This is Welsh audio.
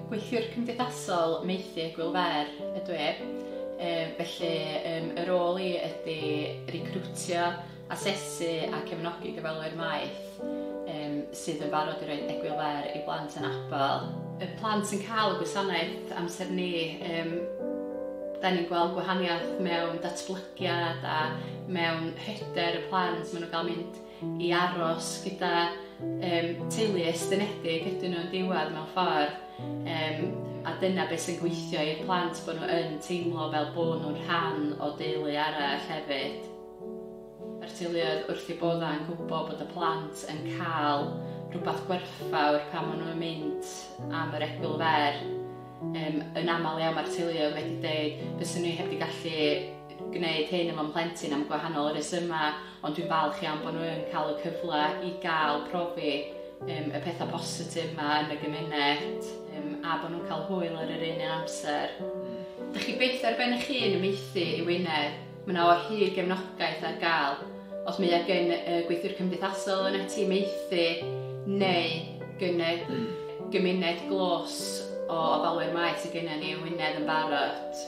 Gweithiwr cymdeithasol maethu egwyl fer ydw i. Felly y rôl i ydy recriwtio, asesu a cefnogi gofalwyr maeth sydd yn barod i roi egwyl fer i blant anabl. Y plant sy'n cael y gwasanaeth amser ni, da ni'n gweld gwahaniaeth mewn datblygiad a mewn hyder y plant. Maen nhw'n cael mynd i aros gyda teulu estynedig ydyn nhw'n diwedd mewn ffordd. A dyna beth sy'n gweithio i'r plant, bod nhw yn teimlo fel bod nhw'n rhan o deulu arall hefyd. Mae'r teuluoedd wrth eu boddau yn gwybod bod y plant yn cael rhywbeth gwerthfawr pan maen nhw'n mynd am yr egwyl fer. Yn aml iawn mae'r teuluoedd wedi dweud, fyswn ni heb wedi gallu gwneud hyn efo'n plentyn am gwahanol resymau, ond dwi'n falch iawn bod nhw yn cael y cyfle i gael profi y pethau positif yma yn y gymuned, a bod nhw'n cael hwyl ar yr un amser. Dych chi byth ar ben eich hun yn maethu i Wynedd, mae yna o hyd gefnogaeth ar gael. Os mae gen y gweithiwr cymdeithasol yn y tîm maethu neu gen y gymuned glos o ofalwyr maeth sydd gennym ni yn Wynedd yn barod.